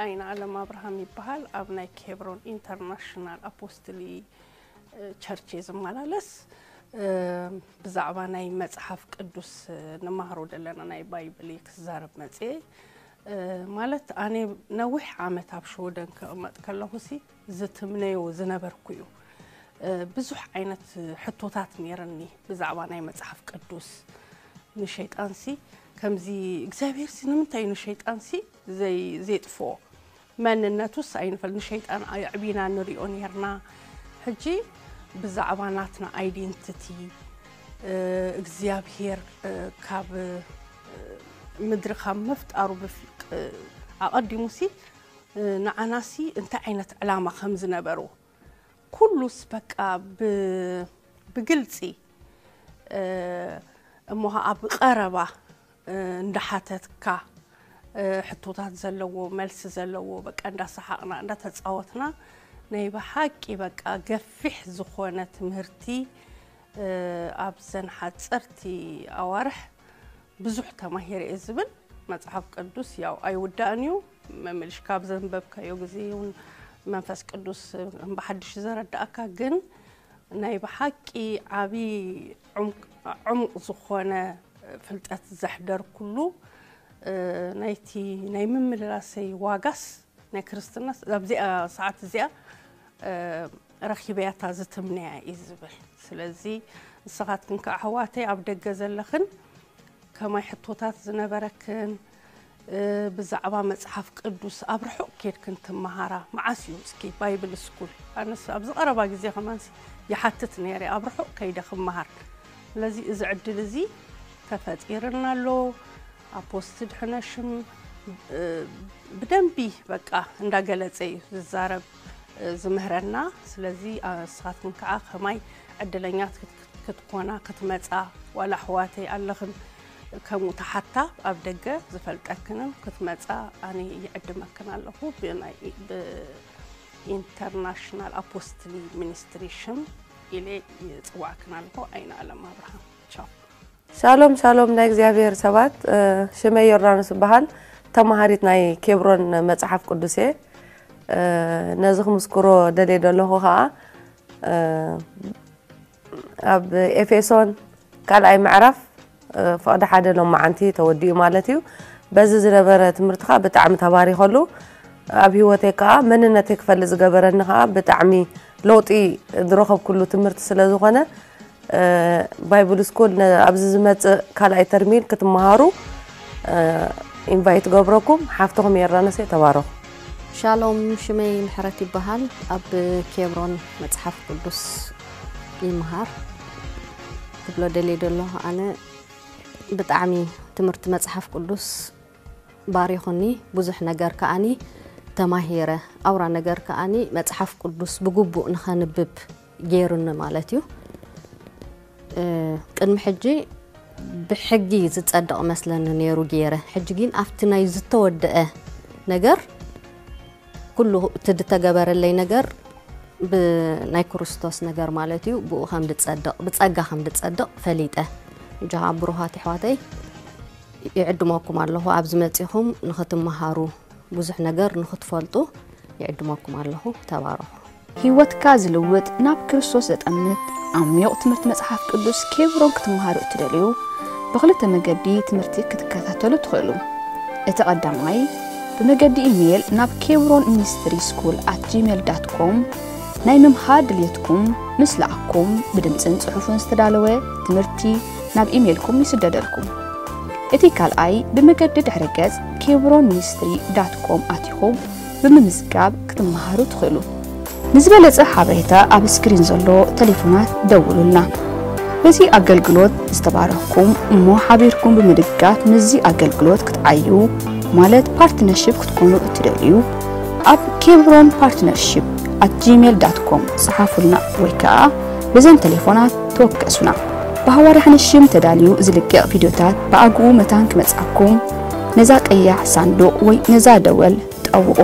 ኣይነ ኣለም ኣብርሃም ይበሃል። ኣብ ናይ ኬብሮን ኢንተርናሽናል ኣፖስትሊ ቸርች እየ ዝመላለስ። ብዛዕባ ናይ መጽሓፍ ቅዱስ ንመሃሮ ዘለና ናይ ባይብል ክዛረብ መጽኤ። ማለት ኣነ ነዊሕ ዓመት ኣብ ሽወደን ክቕመጥ ከለኹ ሲ ዝትምነዮ ዝነበርኩ እዩ። ብዙሕ ዓይነት ሕቶታት ነይርኒ ብዛዕባ ናይ መጽሓፍ ቅዱስ። ንሸይጣንሲ ከምዚ እግዚኣብሔር ሲ ንምንታይ ንሸይጣንሲ ዘይጥፍኦ? መንነቱስ ኣይንፈል ንሸይጣን ኣዕቢና ንሪኦ ነርና። ሕጂ ብዛዕባ ናትና ኣይዴንቲቲ እግዚኣብሔር ካብ ምድሪ ካብ ምፍጣሩ ኣቐዲሙሲ ንዓናሲ እንታይ ዓይነት ዕላማ ከም ዝነበሮ ኩሉስ በቃ ብግልፂ እሞ ኣብ ቀረባ እንዳሓተትካ ሕቶታት ዘለዎ መልሲ ዘለዎ በቃ እንዳሰሓቕና እንዳተፃወትና ናይ ብሓቂ በቃ ገፊሕ ዝኾነ ትምህርቲ ኣብዘን ሓፀርቲ ኣዋርሕ ብዙሕ ተማሂረ እየ ዝብል። መፅሓፍ ቅዱስ ያው ኣይውዳእን እዩ። መመልሽ ካብ ዘንበብካዮ ግዜ እውን መንፈስ ቅዱስ ብሓድሽ ዘረዳእካ ግን ናይ ብሓቂ ዓብዪ ዕሙቕ ዝኾነ ፍልጠት ዘሕደርኩሉ ናይቲ ናይ ምምልላሰይ ዋጋስ ናይ ክርስትና ኣብዚኣ ሰዓት እዚኣ ረኺበያታ ዝትምነያ እዩ ዝብል። ስለዚ ንስኻትክን ከዓ ኣሕዋተይ ኣብ ደገ ዘለኽን ከማይ ሕቶታት ዝነበረክን ብዛዕባ መፅሓፍ ቅዱስ ኣብ ርሑቕ ኬድክን ትመሃራ መዓስ እዩ እስኪ ባይብል ስኩል? ኣነስ ኣብዚ ቀረባ ግዜ ከማንሲ ይሓትት ነይረ ኣብ ርሑቕ ከይደ ክመሃር። ስለዚ እዚ ዕድል እዚ ተፈጢርና ኣሎ። ኣፖስትድ ሕነሽም ብደንቢ በቃ እንዳገለፀ እዩ ዝዛረብ ዝምህረና። ስለዚ ንስኻትኩም ከዓ ከማይ ዕድለኛት ክትኮና ክትመፃ ዋላ ኣሕዋተይ ኣለኽን ከምኡ ተሓታ ኣብ ደገ ዝፈልጠክንን ክትመፃ ኣነ ይዕድመክን ኣለኹ። ብናይ ብኢንተርናሽናል ኣፖስትሊ ሚኒስትሪ ሽም ኢለ ይፅዋዕክን ኣለኹ። ኣይነ ኣለም ኣብርሃም ቻው። ሻሎም ሻሎም ናይ እግዚኣብሔር ሰባት፣ ሽመይ ዮርዳኖስ እበሃል። ተማሃሪት ናይ ኬብሮን መጽሓፍ ቅዱስ እየ። ነዚ ክምስክሮ ደልየ ዘለኹ ኸዓ ኣብ ኤፌሶን ካልኣይ ምዕራፍ ፍቕዲ ሓደ ሎማዓንቲ ተወዲኡ ማለት እዩ። በዚ ዝነበረ ትምህርቲ ከዓ ብጣዕሚ ተባሪኸሉ። ኣብ ህይወተይ ከዓ መንነተይ ክፈልጥ ዝገበረኒ ከዓ ብጣዕሚ ለውጢ ዝረኸብኩሉ ትምህርቲ ስለ ዝኾነ ባይብል ስኩል ኣብዚ ዝመፅእ ካልኣይ ተርሚን ክትመሃሩ ኢንቫይት ገብረኩም። ሓፍትኹም የራነሰ ተባረኹ። ሻሎም ሽመይ ምሕረት ይበሃል። ኣብ ኬብሮን መፅሓፍ ቅዱስ ይመሃር ክብሎ ደልየ ደሎ ኣነ ብጣዕሚ ትምህርቲ መፅሓፍ ቅዱስ ባሪኹኒ። ብዙሕ ነገር ከኣኒ ተማሂረ። ኣውራ ነገር ከኣኒ መፅሓፍ ቅዱስ ብግቡእ ንኸንብብ ገይሩኒ ማለት እዩ። ቅድሚ ሕጂ ብሕጊ ዝፀድቕ መስለኒ ነይሩ ገይረ። ሕጂ ግን ኣብቲ ናይ ዝተወደአ ነገር ኩሉ እቲ ዝተገበረለይ ነገር ብናይ ክርስቶስ ነገር ማለት እዩ። ብኡ ከም ዝፀድቕ ብፀጋ ከም ዝፀድቕ ፈሊጠ። እጃኻ ብሩኻት ኣሕዋተይ ይዕድመኩም ኣለኹ። ኣብዚ መፂኹም ንኽትመሃሩ ብዙሕ ነገር ንኽትፈልጡ ይዕድመኩም ኣለኹ። ተባረኹ። ህይወትካ ዝልውጥ ናብ ክርስቶስ ዘጠምት ዓሚቕ ትምህርቲ መጽሓፍ ቅዱስ ኬብሮን ክትመሃሩ እትደልዩ ብኽልተ መገዲ ትምህርቲ ክትከታተሉ ትኽእሉ። እቲ ቀዳማይ ብመገዲ ኢሜይል ናብ ኬብሮን ሚኒስትሪ ስኩል ኣት ጂሜል ዳት ኮም ናይ ምምሃር ድልየትኩም ምስ ለኣኩም ብድምፅን ፅሑፍን ዝተዳለወ ትምህርቲ ናብ ኢሜይልኩም ይስደደልኩም። እቲ ካልኣይ ብመገዲ ድሕረ ገጽ ኬብሮን ሚኒስትሪ ዳት ኮም ኣቲኹም ብምምዝጋብ ክትመሃሩ ትኽእሉ። ንዝበለጸ ሓበሬታ ኣብ ስክሪን ዘሎ ተሌፎናት ደውሉልና። በዚ ኣገልግሎት ዝተባረኽኩም እሞ ሓቢርኩም ብምድጋፍ ምስዚ ኣገልግሎት ክትዓዩ ማለት ፓርትነርሺፕ ክትኮኑ እትደልዩ ኣብ ኬብሮን ፓርትነርሺፕ ኣት ጂሜል ዳት ኮም ጸሓፉልና ወይ ከኣ በዘን ተሌፎናት ተወከሱና። ብሃዋርያ ሓንሽም ተዳልዩ ዝልቀቕ ቪድዮታት ብኣግኡ መታን ክመጽኣኩም ነዛ ቀያሕ ሳንዱቕ ወይ ነዛ ደወል ጠውቑ።